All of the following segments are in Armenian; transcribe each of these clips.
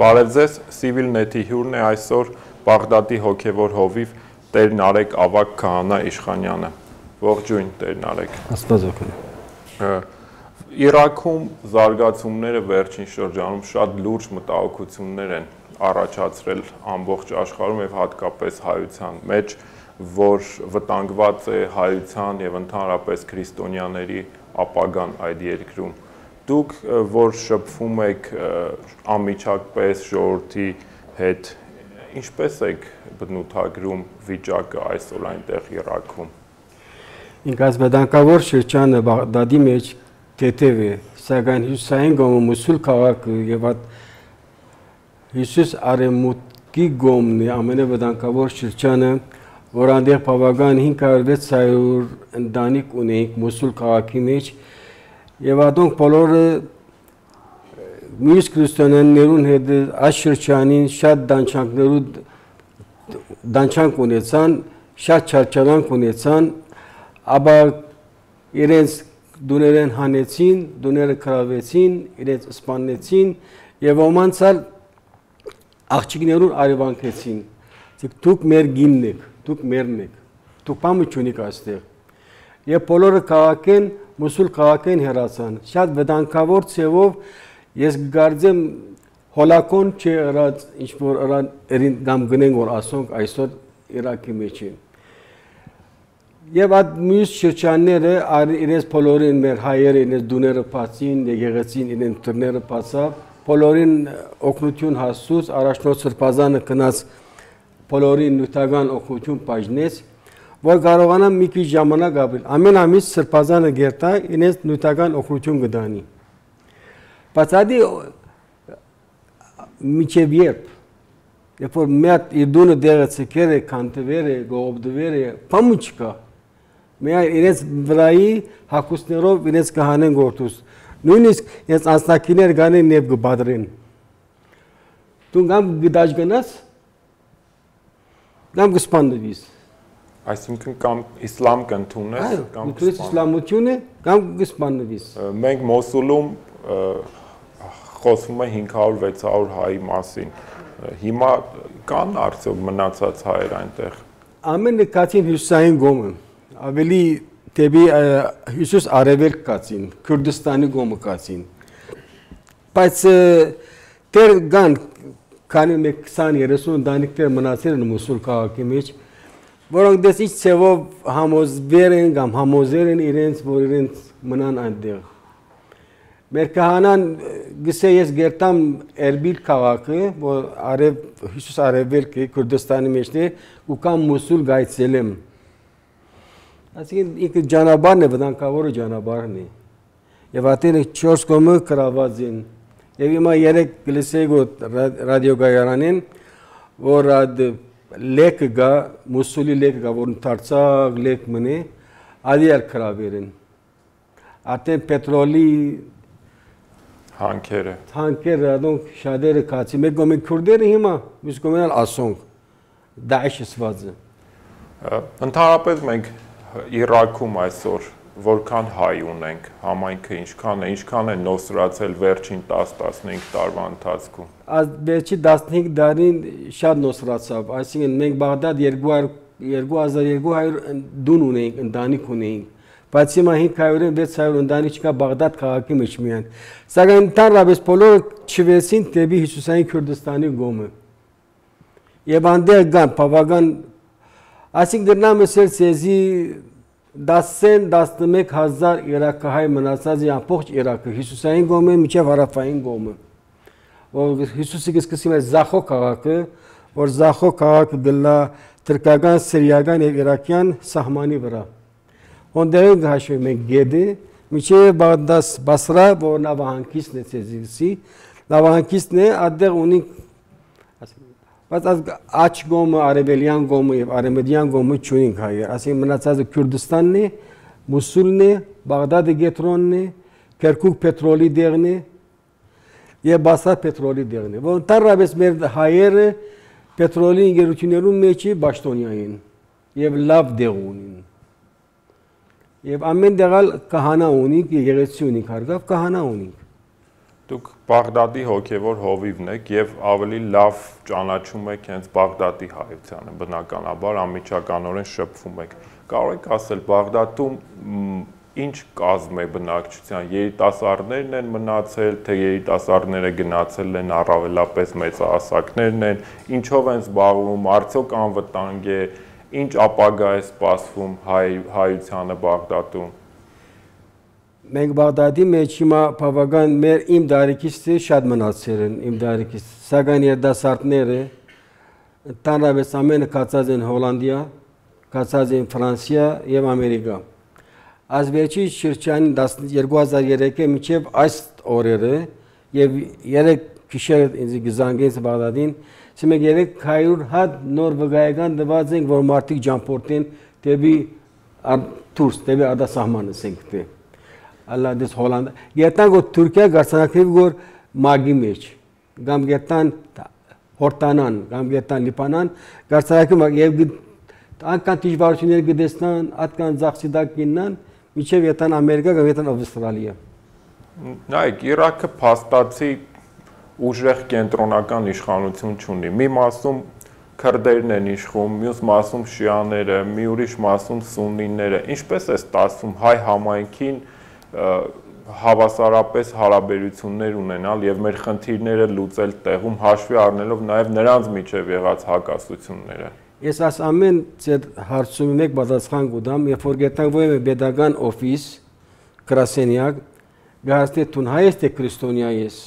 Բարև ձեզ, Civilnet-ի հյուրն է այսօր Բաղդադի հոգևոր հովիվ Տեր Նարեկ Ավագ Քահանա Իշխանյանը։ Ողջույն Տեր Նարեկ։ Աստված օգնի։ Իրաքում զարգացումները վերջին շրջանում շատ լուրջ մտահոգություններ են առաջացրել ամբողջ աշխարհում եւ հատկապես հայության մեջ, որ վտանգված է հայության եւ ընդհանրապես քրիստոնյաների ապագան այդ երկրում։ Դուք, որ շփվում եք անմիջապես ժողովրդի հետ, ինչպես եք բնութագրում վիճակը այսօր այնտեղ Իրաքում։ Ինձ վտանգավոր շրջանը Բաղդադի մեջ թեթև է, սակայն հյուսային կողմը Մոսուլ քաղաքը եւ Հյուսիս արևմուտքի կողմն է ամենավտանգավոր շրջանը, որ այնտեղ բավական 500-600 ընտանիք ունենք Մոսուլ քաղաքի մեջ եւ ադոնք բոլորը մյուս քրիստոնյաներուն հետ այս շրջանին շատ դանչանք ունեցան, շատ չարչարանք ունեցան, ապա իրենց դուներեն հանեցին, դուները քրավեցին, իրենց սպանեցին եւ ոմանցալ աղջիկներուն արևանքեցին։ Դուք մեր գինն եք, դուք մերն եք, դուք բամը չունիք այստեղ։ Եվ բոլորը քաղաքեն, Մոսուլ քաղաքեն հեռացան։ Շատ վտանգավոր ցևով ես գարձեմ հոլակոն չէ ըրած ինչ որ ըրան կամ գնեն որ ասոնք այսօր Իրաքի մեջ են։ Եվ այդ մյուս շրջանները իրենց բոլորին մեր հայերը իրենց դուները բացին, եկեղեցին իրենց դռները բացավ, բոլորին օգնություն հասցուց, առաջնորդ Սրբազանը գնաց բոլորին նյութական օգնություն բաժնեց, որ կարողանան մի քիչ ժամանակ ապրել։ Ամեն ամիս Սրբազանը գերտա իրենց նյութական օգնություն կդանի։ Բայց ադի միջև երբ որ մեծ իր դունը դեղը ցկեր է, կանտվեր է, գողոբդվեր է, բամու չկա։ Միայն իրենց վրայի հակուսներով իրենց կհանեն գործուս։ Նույնիսկ իրենց անձնակիներ գանեն եւ կբադրեն։ Դու կամ գդաշ գնաս, կամ կսպանվես։ Այսինքն կամ իսլամ կընդունես, կամ իսլամություն է, կամ կսպանվես։ Մենք Մոսուլում խոսում է 500-600 հայի մասին։ Հիմա կան արդյոք մնացած հայեր այնտեղ։ Ամենը կացին հյուսային գոմը, ավելի դեպի հյուսիս արևելք կացին, Քուրդիստանի գոմը կացին։ Բայց դեր կան քանի 20-30 ընտանիքներ մնացել են Մոսուլ քաղաքի մեջ, որոնք դες ինչ ցևով համոզվեր են կամ համոզեր են իրենց, որ իրենց մնան այնտեղ։ Մեր քահանան գսե ես գերտամ Էրբիլ քաղաքը, որ հյուսիս արևելք է Քուրդիստանի մեջն է, ու կամ Մոսուլ գայցելեմ։ Այսինքն ինքը ճանապարհն է, վտանգավոր ճանապարհն է։ Եվ ատեն 4 կողմը կրաված են։ Եվ հիմա 3 գլսեգո ռադիոգայանեն, որ լեկը գա, Մոսուլի լեկը գա, որ դարձակ լեք մնե, ադիալ կրավերեն։ Ատեն պետրոլի հանքերը, ադոնք շատերը կացի, մեկ գոմեն քուրդերը հիմա, մյուս գոմենալ ասոնք, Դաեշ սվածը։ Ընդհանրապես մենք Իրաքում այսօր որքան հայ ունենք, համայնքը ինչքան է նոսրացել վերջին 10-15 տարվա ընթացքում։ Վերջի 15 տարին շատ նոսրացավ, այսինքն մենք Բաղդադ 2200 դուն ունենք, ընտանիք ունենք, բայց հիմա 500-600 ընտանիք չկա Բաղդադ քաղաքի մեջ միայն։ Սակայն ընդհանրապես բոլորը չվեցին դեպի Հյուսիսային Քուրդիստանի գոմը։ Եվ այնտեղ կան բավական, այսինքն դրնամ ասել ցեզի 10-11 հազար իրաքահայ մնացած է ամբողջ Իրաքը, Հյուսիսային գոմը մինչև հարավային գոմը։ Որ Հյուսիսի սկսում է Զախո քաղաքը, որ Զախո քաղաքը գլա թուրքական, սիրիական եւ իրաքյան սահմանի վրա։ Ոնդերեն գաշվում են գեդի, մինչև Բաղդադ Բասրա, որ նավահանգիստն է ցեզի, նավահանգիստն է, այդտեղ ունի բայց աչ գոմը, արևելյան գոմը եւ արևմտյան գոմը չունենք հայեր, ասենք մնացածը Քուրդիստանն է, Մոսուլն է, Բաղդադի գետրոնն է, Քերքուկ պետրոլի դեղն է եւ Բասրա պետրոլի դեղն է։ Որ ընդհանրապես մեր հայերը պետրոլի ինժեներություններում մեջ պաշտոնյա են եւ լավ դեղ ունին։ Եվ ամեն տեղալ կահանա ունենք, եկեղեցի ունենք, հարգավ կահանա ունենք։ Դուք Բաղդադի հոգևոր հովիվն եք եւ ավելի լավ ճանաչում եք հենց Բաղդադի հայությանը, բնականաբար անմիջականորեն շփվում եք։ Կարող եք ասել Բաղդադում ինչ կազմ է բնակչության, երիտասարդներն են մնացել, թե երիտասարդները գնացել են առավելապես մեծահասակներն են, ինչով են զբաղվում, արդյոք անվտանգ է, ինչ ապագա է սպասվում հայությանը Բաղդադում։ Մենք Բաղդադի մեջ հիմա բավական իմ դարիքիցը շատ մնացել են, իմ դարիքից, սակայն երիտասարդները տանավես ամենը կացած են Հոլանդիա, կացած են Ֆրանսիա եւ Ամերիկա։ Ազվերջի շրջանի 2003-ը մինչև այս օրերը եւ 3 գիշեր ինձ գզանգեց Բաղդադին, ասենք 300 հատ նոր վկայական դված են, որ մարդիկ ճամփորդեն դեպի դուրս, դեպի արտասահմանը ասենք։ Alla des Hollanda. Գետան գո Թուրքիա գարցանակtiv գոր մագի մեջ։ Գամ գետան հորտանան, գամ գետան լիպանան, գարցանակի եւ անկան դժվարություններ գտեսնան, ատկան ծախսիդակ կիննան, միջև ետան Ամերիկա կամ ետան Ավստրալիա։ Նայեք, Իրաքը փաստացի ուժեղ կենտրոնական իշխանություն չունի։ Մի մասում քրդերն են իշխում, մյուս մասում շիաները, մի ուրիշ մասում սուննիները։ Ինչպես է ստացվում հայ համայնքին հավասարապես հարաբերություններ ունենալ եւ մեր խնդիրները լուծել տեղում հաշվի առնելով նաեւ նրանց միջև եղած հակասությունները։ Ես աս ամեն ձեր հարցումի մեկ պատասխան կուտամ, երբ որ գտանք ո՞մ է pedagogan օֆիս գրասենյակ, գարստե տուն հայ է քրիստոնյա ես։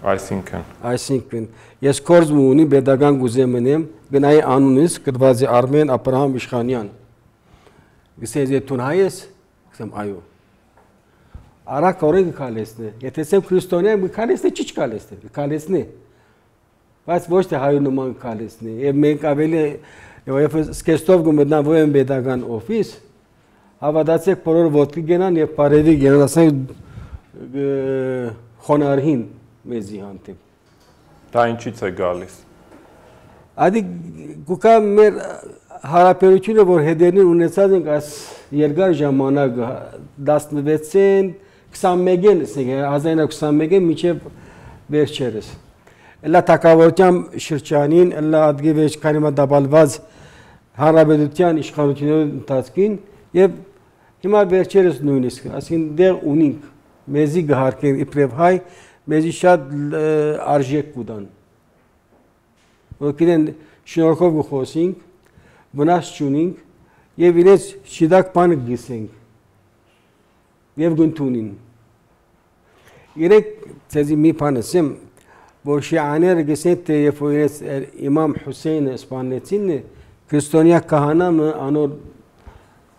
Այսինքն ես կորձ ունի pedagogan գուզեմնեմ, գնայի անունից գրված է Արմեն Աբրահամ Իշխանյան։ Գսեզե տուն հայ ես, գսեմ այո։ Արա կորեն կալեսնե, եթե սեմ քրիստոնյա կալեսնե, չի կալեսնե, կալեսնե։ Բայց ոչ թե հայու նման կալեսնե։ Եվ մենք ավելի եւ սկեստով գմտնան ո՞մ pedagogan օֆիս, հավատացեք բոլոր ոտքի գնան եւ բարեվի գնան, ասենք խոնարհին մեզի հանդեպ։ Դա ինչից է գալիս։ Ադի գուկա մեր հարաբերությունը, որ հետերին ունեցած ենք այս երկար ժամանակ 16-ին 21-ին, 1921-ին միջև վերջերս։ Էլա թակավորության շրջանին, էլա ադգիվեջ կանիմա դաբալված հարաբերության իշխանությունների ընթացքին եւ հիմա վերջերս նույնիսկ, ասին դեղ ունենք մեզի գահարկեն իբրև հայ, մեզի շատ արժեք կուտան։ Որքան շնորհքով գխոսենք, վնաս չունենք եւ իրենց շիդակ բանը գիսենք եւ գնտունին։ Երեք ցեզի մի բան ասեմ, որ շիաները գսեն թե երբ որ իրենց իմամ Հուսեյնը սպանեցին, քրիստոնյա քահանամը անոր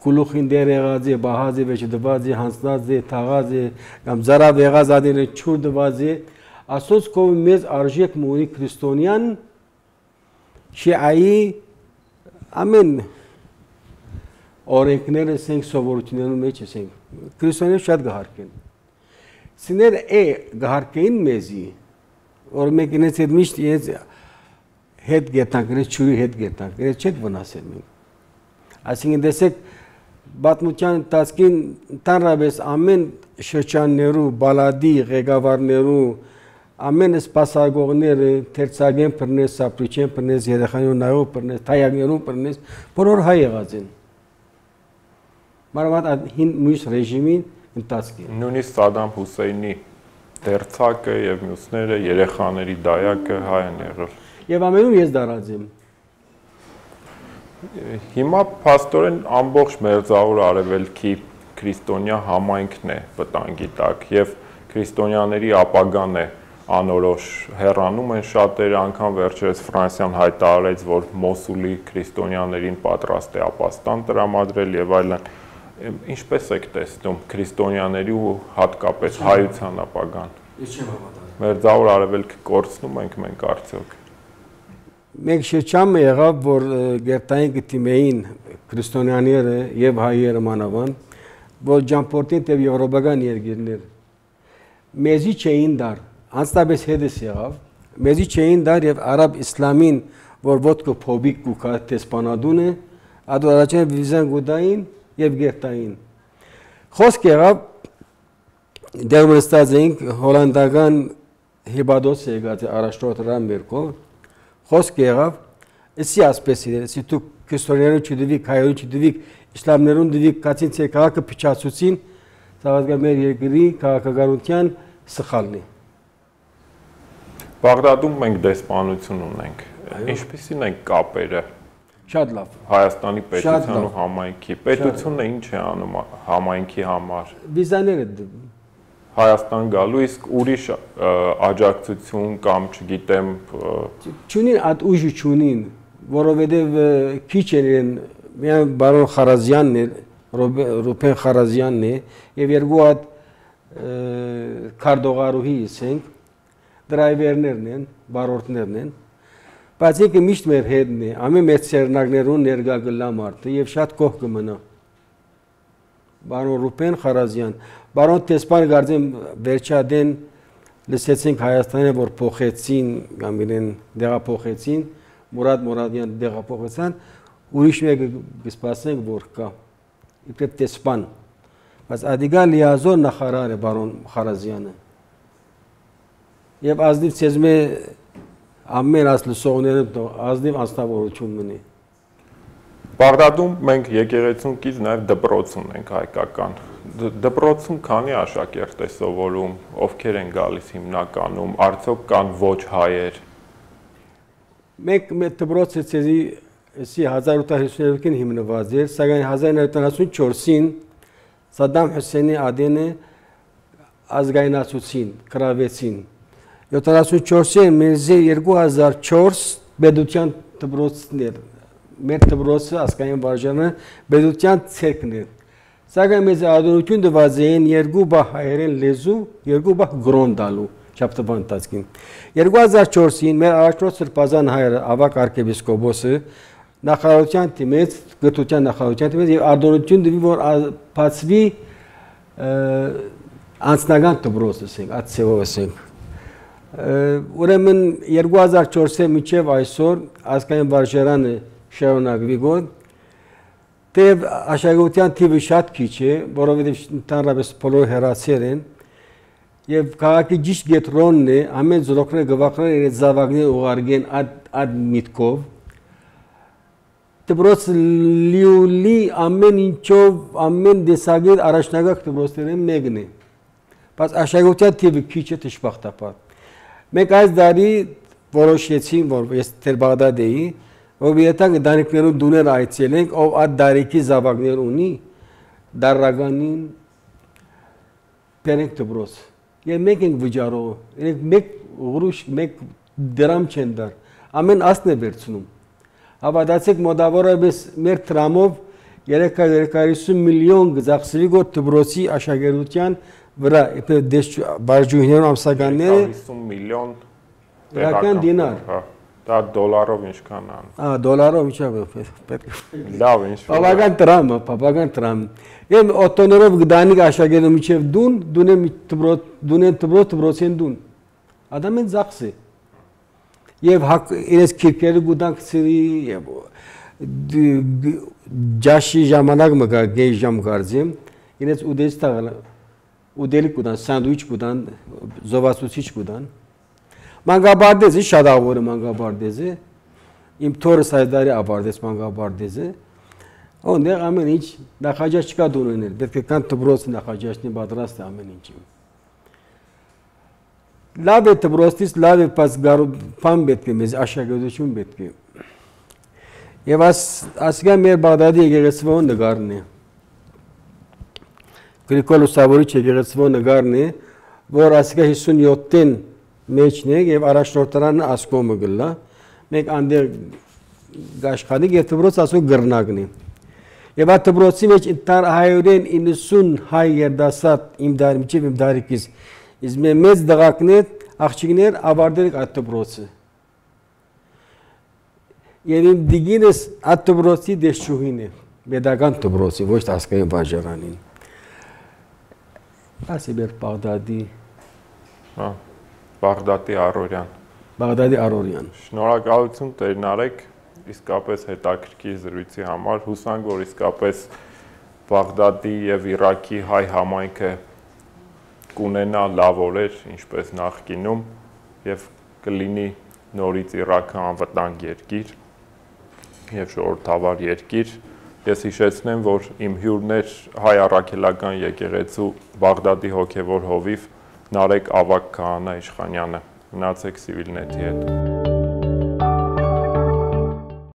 գլուխին դեր եղած է, բահած է, վեճ դված է, հանձնած է, թաղած է, կամ զարավ եղած ադերը չուր դված է, ասոց կով մեզ արժեք մունի քրիստոնյան շիայի ամեն օրենքները սենք սովորություններում մեջ ենք, քրիստոնյանը շատ գահարկեն։ Սիներ գահարկեին մեզի, որ մենք ինձ հետ միշտ ինձ հետ գետանք, ինձ չուրի հետ գետանք, ինձ չեք վնասել մենք։ Այսինքն տեսեք, բատմության տասկին տանրավես ամեն շրջաններու, բալադի, ղեկավարներու, ամեն սպասագողները, թերցագեն պրնես, սապրիչեն պրնես, երեխանյուն նայով պրնես, թայագներուն պրնես, բոլոր հայ եղած են։ Մարավատ հին մույս ռեժիմին ընտասկին։ Նույնիսկ Սադամ Հուսեյնի դերցակը եւ մյուսները, երեխաների դայակը հայ են եղել։ Եվ ամենում ես դարած եմ։ Հիմա փաստորեն ամբողջ մերձավոր արևելքի քրիստոնյա համայնքն է վտանգի տակ եւ քրիստոնյաների ապագան է անորոշ հեռանում են շատերը, անգամ վերջերս Ֆրանսիան հայտարարեց, որ Մոսուլի քրիստոնյաներին պատրաստ է ապաստան տրամադրել եւ այլն։ Ինչպես եք տեսնում քրիստոնյաների ու հատկապես հայության ապագան։ Ես չեմ հավատալ։ Մերձավոր արևելքը կորցնում ենք մենք արդյոք։ Մենք շրջանը եղավ, որ գերտային գտիմեին քրիստոնյաները եւ հայերը մանավան, որ ճամփորդին եւ եվրոպական երկիրներ մեզի չէին դար, անստաբես հետս եղավ, մեզի չէին դար եւ արաբ իսլամին, որ ոտքը փոբիկ կուքա տեսպանադուն է, ադու առաջին վիզան գուդային եւ գերտային։ Խոսք եղավ դեռ նստած էինք հոլանդական հիբադոս եկած առաջնորդական մերկով խոսք եղավ էսի ասպես իրեն էսի դու քրիստոնյանու չդվիկ հայերու չդվիկ իսլամներուն դվիկ կացին ցե քաղաքը փչացուցին սավազգա մեր երկրի քաղաքականության սխալն է Բաղդադում մենք դեսպանություն ունենք ինչպիսին են կապերը շատ լավ Հայաստանի պետության ու համայնքի պետությունը ինչ է անում համայնքի համար վիզաները Հայաստան գալու իսկ ուրիշ աջակցություն կամ չգիտեմ չունին այդ ուժը չունին որովհետև քիչ են միայն բարոն Խարազյանն է Ռուբեն Խարազյանն է եւ երկու հատ քարտողարուհի ասենք դրայվերներն են բարորդներն են բայց եկե միշտ մեր հետն է ամեն մեր ցերնակներուն ներգա գլա մարդը եւ շատ կող կմնա բարոն Ռուբեն Խարազյան Բարոն Տեսպան գարձեմ վերջադեն լսեցինք Հայաստանը որ փոխեցին կամ իրեն դեղափոխեցին Մուրադ Մուրադյան դեղափոխեցան ուրիշ մեկը կսպասենք որ կա իբրև Տեսպան բայց ադիգա լիազոր նախարար է բարոն Խարազյանը եւ ազնիվ ցեզմե ամեն ասլսողները ազնիվ անստավորություն մնի Բաղդադում մենք եկեղեցուն կից նաեւ դպրոց ունենք հայկական Դպրոցում քանի աշակերտ է սովորում, ովքեր են գալիս հիմնականում, արդյոք կան ոչ հայեր։ Մենք դպրոցը ցեզի 1852-ին հիմնված էր, սակայն 1994-ին Սադամ Հուսեյնի ադենը ազգայնացուցին, կրավեցին։ 74-ին մերձի 2004 բեդության դպրոցներ, մեր դպրոցը ազգային վարժանը բեդության ցերկն էր։ Սակայն մեզ ադորություն դված էին երկու բա հայերեն լեզու, երկու բա գրոն դալու չափտվան տածքին։ 2004-ին մեր առաջնորդ Սրբազան հայրը ավակ arczepiskopos-ը նախարարության թիմից, գտության նախարարության թիմից եւ ադորություն դվի որ բացվի անձնական դպրոց ասենք, ացեով ասենք։ Ուրեմն 2004-ը մինչև այսօր ազգային վարժարանը շարունակվի գոդ Տեվ աշակերտության թիվը շատ քիչ է, որովհետև ընդհանրապես բոլորը հեռացել են, եւ քաղաքի ճիշտ գետրոնն է, ամեն զրոքները գվախները իրենց զավակները ուղարկեն այդ միտքով։ Դպրոցը լիոլի ամեն ինչով, ամեն դեսագետ առաջնագահ դպրոցներն մեկն է։ Բայց աշակերտության թիվը քիչ է դժբախտաբար։ Մենք այս տարի որոշեցինք, որ ես դեր Բաղդադ էի, որ եթե դարիքներուն դուներ այցելենք, ով այդ դարիքի զավակներ ունի, դարականին բերենք դպրոց։ Եվ մեկ ենք վճարող, մեկ ուղրուշ, մեկ դրամ չեն դար, ամեն ասն է վերցնում։ Հավատացեք մոտավորապես մեր տրամով 350 միլիոն գծախսվի գոտ դպրոցի աշակերտության վրա, բարջույներն ամսականները 50 միլիոն դրական դինար։ Դա դոլարով ինչքան ան։ Դոլարով ինչա պետք։ Լավ ինչ։ Բավական տրամ։ Եվ օտոներով գդանիկ աշակերտը միջև դունեն դպրոցեն դուն։ Ադամեն ծախսի։ Եվ իրենց քիրքերը գուտանք ծրի եւ ջաշի ժամանակ մգա գեյ ժամ գարձեմ իրենց ուդես տաղ ուդելի կուտան սանդուիչ կուտան զովացուցիչ կուտան Մանգաբարդեզի շատ ավորը մանգաբարդեզը իմ թորս հայդարի աբարդես մանգաբարդեզը Ondեղ ամեն ինչ նախաճաշ չկա դունել, պետք է կան դպրոց նախաճաշնի պատրաստ է ամեն ինչի։ Լավ է դպրոցից լավ է բայց բան պետք է մեզ աշակերտություն պետք է։ Եվ ասկա մեր Բաղդադի եկեղեցվո նկարն է։ Գրիգոր Լուսավորիչ եկեղեցվո նկարն է, որ ասկա 57-ին մեջն է եւ առաջնորդարանը ասկոմը գլա։ Մենք անդեր գաշխանիկ եւ դպրոց ասո գրնակն է։ Եվ այդ դպրոցի մեջ ինտար 190 հայ երդասարդ իմ դարիքից Իսկ մեծ դղակներ, աղջիկներ ավարտել այդ դպրոցը։ Եվ իմ դիգինս այդ դպրոցի դեսչուհին է, պետական դպրոցի, ոչ ազգային վարժարանին։ Ասի մեր Բաղդադի Բաղդադի Արորյան։ Բաղդադի Արորյան։ Շնորհակալություն Տեր Նարեկ, իսկապես հետաքրքիր զրույցի համար, հուսանք, որ իսկապես Բաղդադի եւ Իրաքի հայ համայնքը կունենա լավ օրեր, ինչպես նախկինում, եւ կլինի նորից Իրաքը անվտանգ երկիր եւ ժողովրդավար երկիր։ Ես հիշեցնեմ, որ իմ հյուրն էր Հայ առաքելական եկեղեցու Բաղդադի հոգևոր հովիվ Նարեկ Ավագ Քահանա Իշխանյանը։ Մնացեք Civilnet-ի հետ։